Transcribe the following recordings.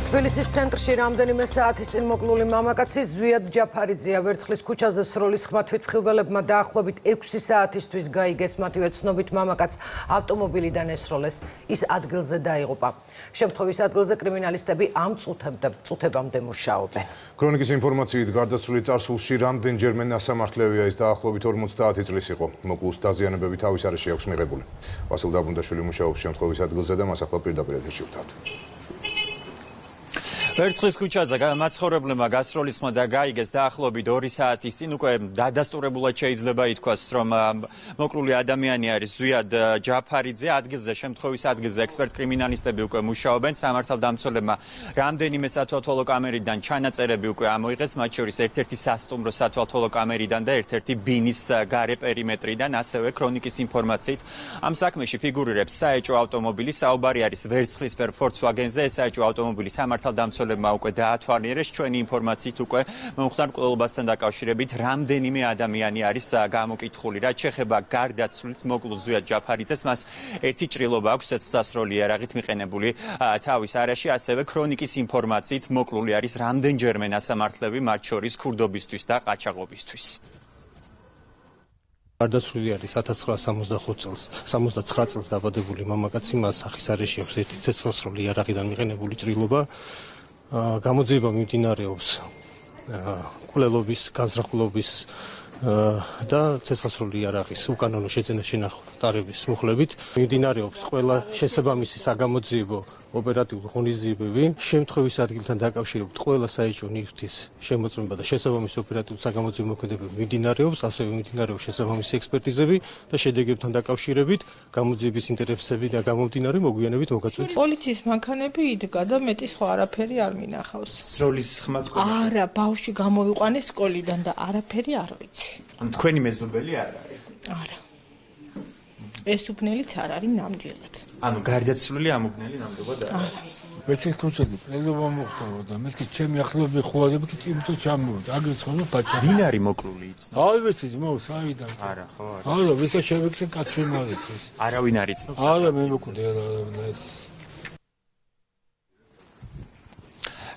თბილისის ცენტრში რამდენიმე საათის წინ მოკლული მამაკაცი ზვიად ჯაფარიძეა ვერცხლის ქუჩაზე სროლის ხმათვით მხილველებმა დაახლოებით 6 საათისთვის გაიგეს მათივე ცნობით მამაკაც ავტომობილიდან ესროლეს. ის ადგილზე დაიღუპა. შემთხვევის ადგილზე კრიმინალისტები ამ წუთებამდე მუშაობენ. ქრონიკის ინფორმაციით გარდაცვლილი წარსულში რამდენჯერმე ნასამართლევია ის დაახლოებით 50 წლის იყო. მოკლულს დაზიანებები თავის არეში აქვს მიღებული. ვასილ დაბრუნდაშვილი მუშაობს შემთხვევის ადგილზე და მას ახლა პირდაპირ ეთერში ვთავთ. ვერცხლის ქუჩაზე მაცხოვრებლებმა გასროლის ხმა და გაიგეს დაახლოებით 2 საათის წინ უკვე დადასტურებულად შეიძლება ითქვას, რომ მოკლული ადამიანი არის ზვიად ჯაფარიძე. ადგილზე შემთხვევის ადგილზე ექსპერტ კრიმინალისტები უკვე მუშაობენ. სამართალდამცველებმა რამდენიმე სათვალთვალო კამერიდან ჩანაწერები უკვე ამოიღეს, მათ შორის ერთ-ერთი სასტუმრო სათვალთვალო კამერიდან და ერთ-ერთი ბინის გარე პერიმეტრიდან, ასევე ქრონიკის ინფორმაციით ამ საქმეში ფიგურირებს საეჭვო ავტომობილი. საუბარი არის ვერცხლისფერ Volkswagen-ზე. ეს საეჭვო ავტომობილი სამართალდამცველებმა უკვე დაათვალიერეს. ჩვენი ინფორმაციით უკვე მომხდარ მკვლელობასთან დაკავშირებით რამდენიმე ადამიანი არის გამოკითხული. რაც შეეხება გარდაცვლილს მოკლულ ზვიად ჯაფარიძეს, მას ერთი ჭრილობა აქვს წესასროლი იარაღით მიყენებული თავის არეში. ასევე ქრონიკის ინფორმაციით მოკლული არის რამდენჯერმე ნასამართლები, მათ შორის ქურდობისთვის და ყაჩაღობისთვის. გარდაცვლილი არის 1979 წელს დაბადებული მამაკაცი, მას სახის არეში აქვს ერთი წესასროლი იარაღიდან მიყენებული ჭრილობა. გამოძიება მიმდინარეობს მკვლელობის, განზრახულობის და წესასროლი იარაღის უკანონო შეძენა-შენახვა ტარების მუხლებით. მიმდინარეობს ყველა შესაბამისი საგამოძიებო ოპერატიული ღონისძიებები. შემთხვევის ადგილთან დაკავშირებით ყველა საეჭვო ნივთის შემოწმება და შესაბამისი ოპერატიული საგამოძიებო მოქმედებები მიმდინარეობს, ასევე მიმდინარეობს შესაბამისი ექსპერტიზები და შედეგებთან დაკავშირებით გამოძიების ინტერესები და გამომდინარე მოგვიანებით მოგაწვით. პოლიციის მანქანები იდგა და მეტი სხვა არაფერი არ მინახავს. სროლის ხმა თქვენ? არა, ბავშვი გამოვიყვანეს სკოლიდან და არაფერი არ ვიცი. თქვენი მეზობელი არ არის? არა. ეს უბნელიც არ არის ნამდვილად. ანუ გარდაცვლილი ამ უბნელი ნამდვილად არ არის. ვერცხლის ქუჩაზე პრეზიდენტობა მოხდა და მეთქი ჩემი ახლობლები ხოვარები კი იმიტომ ჩამოვიდა. აგრეთვე ხოლმე პაჭა. ვინ არის მოკლული იცნო? არ ვიცი ძმაო, საიდან? არა, ხო არა. არა, ვისა შევიქცე კაცი მარიც ეს. არავინ არ იცნობს? არა, მე მოკვდე არა ეს.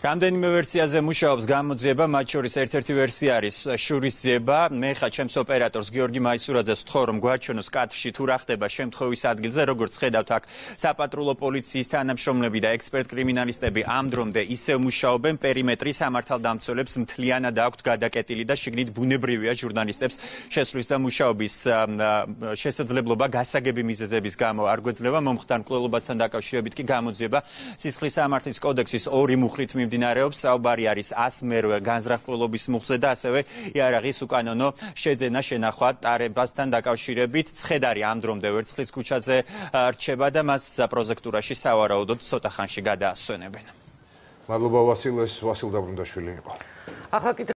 რამდენიმე ვერსიაზე მუშაობს გამოძიება, მათ შორის ერთ-ერთი ვერსია არის შურისძიება. მე ხა ჩემს ოპერატორს გიორგი მაისურაძეს ვთხოვ, რომ გვაჩვენოს კადრში თუ რა ხდება შემთხვევის ადგილზე, როგორც ხედავთ აქ საპატრულო პოლიციის თანამშრომლები და ექსპერტ კრიმინალისტები ამ დრომდე ისევ მუშაობენ. პერიმეტრი სამართალდამცველებს მთლიანად აქვთ გადაკეტილი და შიგნით ბუნებრივია ჟურნალისტებს შესვლის და მუშაობის შესაძლებლობა გასაგები მიზეზების გამო არ გვეძლება. მომხდარ მკვლელობასთან დაკავშირებით კი გამოძიება სისხლის სამართლის კოდექსის 2 მუხლით მიმდინარეობს. საუბარი არის 100 განზრახულობის მუხლზე და ასევე იარაღის უკანონო შეძენა-შენახვა ტარებასთან დაკავშირებით. ცხედარი ამ დრომდე ვერცხლის ქუჩაზე რჩება და მას პროზექტურაში სავარაუდოდ ცოტა ხანში გადაასვენებენ. მადლობა ვასილ დაბრუნდაშვილი იყო.